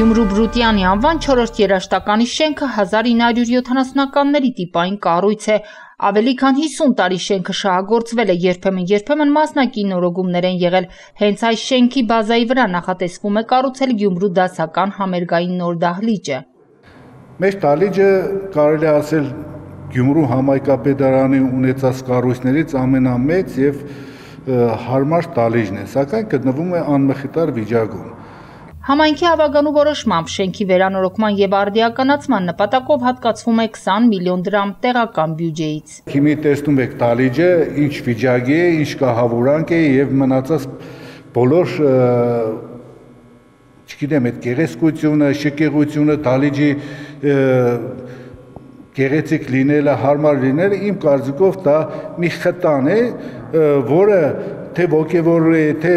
Գյումրու Բրուտյանի անվան 4-րդ երաժշտականի շենքը 1970-ականների տիպային կառույց է։ Ավելի քան 50 տարի շենքը շահագործվել է, երբեմն մասնակի նորոգումներ են եղել։ Հենց այս շենքի բազայի վրա նախատեսվում է կառուցել Գյումրու դասական համերգային նոր դահլիճը։ Մեր դահլիճը կարելի է ասել Գյումրու համայնքապետարանի ունեցած կառույցներից ամենամեծ եւ հարմար դահլիճն է, սակայն գտնվում է անմխիթար վիճակում։ Համայնքի ավագանու որոշմամբ շենքի վերանորոգման եւ արդիականացման նպատակով հատկացվում է 20 միլիոն դրամ տեղական բյուջեից։ Հիմի տեսնում եք դահլիճը ինչ վիճակի է, ինչ կահավորանք է եւ մնացած բոլոր չգիտեմ այդ գեղեցկությունը, շքեղությունը, դահլիճի գեղեցիկ լինելը, հարմար լինելը իմ կարծիքով դա մի խտան է, որը թե ոգևորել է, թե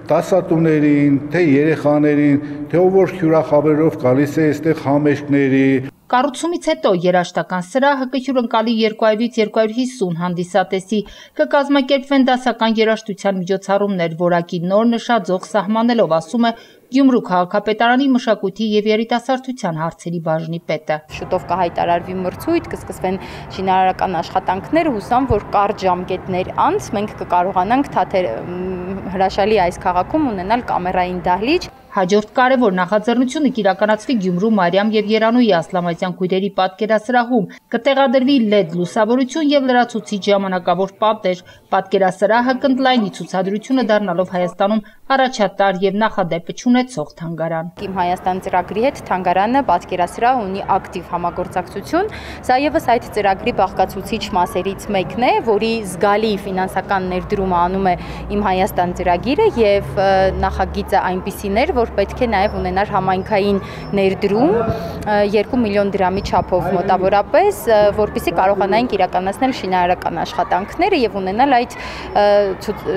դասատուներին, թե երեխաներին, թե ով որ հյուրախաբերով գալիս է այստեղ համերգների։ Կառուցումից հետո երաժշտական սրահը կհյուրընկալի 200-ից 250 հանդիսատեսի, կկազմակերպվեն դասական երաժշտության միջոցառումներ, որակի նոր նշաձող սահմանելով, ասում է Գյումրու քաղաքապետարանի մշակույթի եւ երիտասարդության հարցերի բաժնի պետը։ Շուտով կհայտարարվի մրցույթ, կսկսվեն շինարարական աշխատանքներ, հուսամ, որ կարճ ժամկետներ անց մենք կկարողանանք հրաշալի այս քաղաքում ունենալ կամերային դահլիճ։ Հաջորդ կարևոր նախաձեռնությունը կիրականացվի Գյումրու Մարիամ եւ Երանուհի Ասլամազյան քույրերի պատկերասրահում, կտեղադրվի LED լուսավորություն եւ լրացուցիչ ժամանակավոր պատեր։ Պատկերասրահը կընդլայնի ցուցադրությունը, դառնալով Հայաստանում առաջատար եւ նախադեպը չունեցող թանգարան։ Իմ Հայաստան ծրագրի հետ թանգարանը պատկերասրահ ունի ակտիվ համագործակցություն։ Սա եւս այդ ծրագրի բաղկացուցիչ մասերից մեկն է, որի զգալի ֆինանսական ներդրումը անում է Իմ Հայաստան ծրագիրը եւ նախագիծը այնպիսին էր, որ պետք է նաև ունենար համայնքային ներդրում 2 միլիոն դրամի չափով մոտավորապես, որպեսզի կարողանայինք իրականացնել շինարարական աշխատանքները եւ ունենալ այդ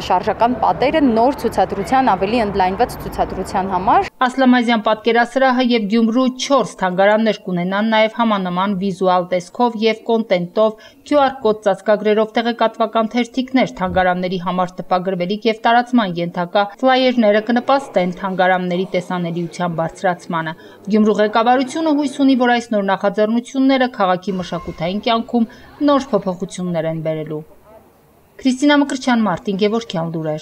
շարժական պատերը նոր ցուցադրության, ավելի ընդլայնված ցուցադրության համար։ Ասլամազյան պատկերասրահը եւ Գյումրու 4 թանգարաններ կունենան նաև համանման վիզուալ տեսքով եւ կոնտենտով, QR կոդ ծածկագրերով տեղեկատվական թերթիկներ, թանգարանների համար տպագրվելիք եւ տարածման ենթակա ֆլայերները կնպաստեն թանգարանների տեսանելիության բարձրացմանը։ Գյումրու ղեկավարությունը հույս ունի, որ այս նոր նախաձեռնությունները քաղաքի մշակութային կյանքում նոր փոփոխություններ են բերելու։ Քրիստինա Մկրտչյան, Մարտին Գևորգյան, լուրեր։